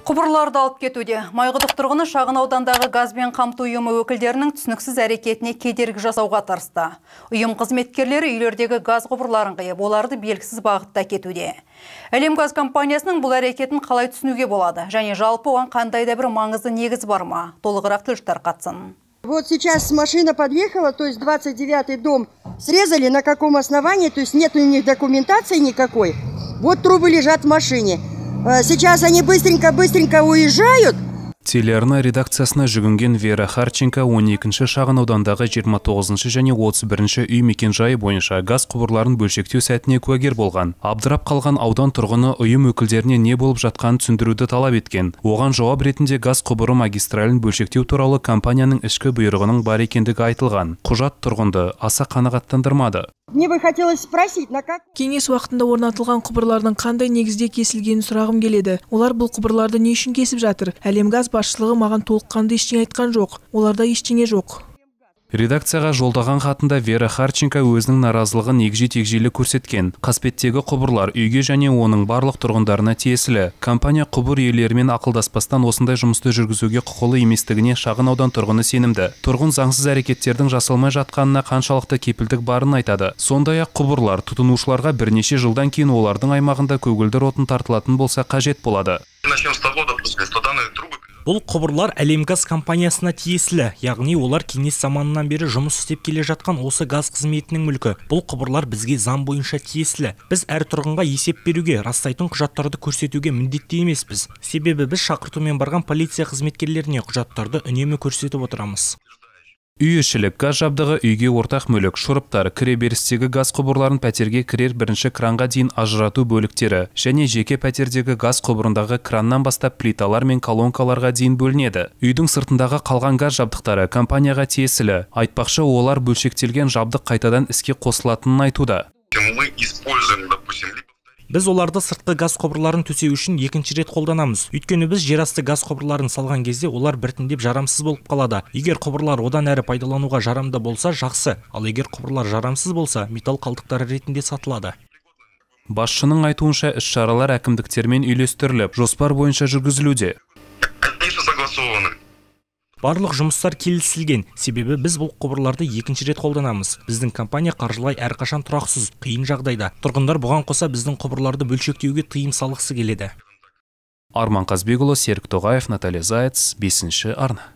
Құбырларды алып кетуде. Майқұдық тұрғыны шағын аудандағы газбен қамту ұйымы өкілдерінің түсініксіз әрекетіне кедергі жасауға тырысты. Ұйым қызметкерлері үйлердегі газ құбырларын қиып, оларды белгісіз бағытта кетуде. Әлемгаз компаниясының бұл әрекетін қалай түсінуге болады? Және жалпы оған қандай да бір маңызды негіз бар ма? Толығырақ тілшілер қатыссын. Вот сейчас машина подъехала, то есть 29-й дом срезали, на каком основании, то есть нет у них документации никакой. Вот трубы лежат в машине. Сейчас они быстренько уезжают. Телеарна редакциясына жүгінген Вера Харченко 12-ші шағын аудандағы 29-ші және 31-ші үй мекенжайы бойынша газ құбырларын бөлшектеу сәтіне куәгер болған. Абдырап қалған аудан тұрғыны ұйым өкілдеріне не болып жатқанын түсіндіруді талап еткен. Оған жауап ретінде газ құбыры магистралін бөлшектеу туралы компанияның ішкі бұйрығының бар екендігі айтылған. Құжат тұрғынды аса қанағаттандырмады. Мне бы хотелось спросить, на как... Кеңес уақытында орнатылған құбырлардың қандай негізде кесілгенін сұрағым келеді. Олар бұл құбырларды не үшін кесіп жатыр? Әлемгаз басшылығы маған толыққанды ештеңе айтқан жоқ. Оларда ештеңе жоқ. Редакцияға жолдаған хатында Вера Харченко өзінің наразылығын егжей-тегжейлі көрсеткен. Қасбеттегі құбырлар үйге және оның барлық тұрғындарына тиесілі. Компания құбыр иелерімен ақылдаспастан осындай жұмысты жүргізуге құқылы еместігіне шағын аудан тұрғыны сенімді. Тұрғын заңсыз әрекеттердің жасалмай жатқанына қаншалықты кепілдік барын айтады. Сондай-ақ құбырлар тұтынушыларға бірнеше жылдан кейін олардың аймағында көгілдір отын тартылатын болса қажет болады. Бұл құбырлар Әлемгаз компаниясына тиесілі, яғни олар кеңес заманынан бері жұмыс істеп келе жатқан осы газ қызметінің мүлкі. Бұл құбырлар бізге заң бойынша тиесілі. Біз әр тұрғынға есеп беруге, растайтын құжаттарды көрсетуге міндетті емеспіз. Себебі біз шақыртумен барған полиция қызметкерлеріне құжаттарды үнемі көрсетіп отырамыз. Үй-ішілік газ жабдығы үйге ортақ мүлік, шұрыптар, кіреберістегі газ құбырларын пәтерге кірер бірінші кранға дейін ажырату бөліктері және жеке пәтердегі газ құбырындағы краннан бастап плиталар мен колонкаларға дейін бөлінеді. Үйдің сыртындағы қалған газ жабдықтары компанияға тиесілі. Айтпақшы, олар бөлшектелген жабдық қайтадан іске қосылатынын айтуда. Біз оларды сыртқы газ құбырларын төсеу үшін екінші рет қолданамыз. Өйткені біз жерасты газ құбырларын салған кезде олар біртіндеп жарамсыз болып қалады. Егер құбырлар одан әрі пайдалануға жарамды болса, жақсы. Ал егер құбырлар жарамсыз болса, металл қалдықтары ретінде сатылады. Басшының айтуынша іс-шаралар әкімдіктермен үйлестіріліп, жоспар бойынша жүргізілуде. Барлық жұмыстар келісілген, себебі біз бұл құбырларды екінші рет қолданамыз. Біздің компания қаржылай әрқашан тұрақсыз, қиын жағдайда. Тұрғындар бұған қоса біздің құбырларды бөлшектеуге тыйым салғысы келеді. Арман Қазбекұлы, Серік Тоғаев, Наталья Заяц, 5-ші арна.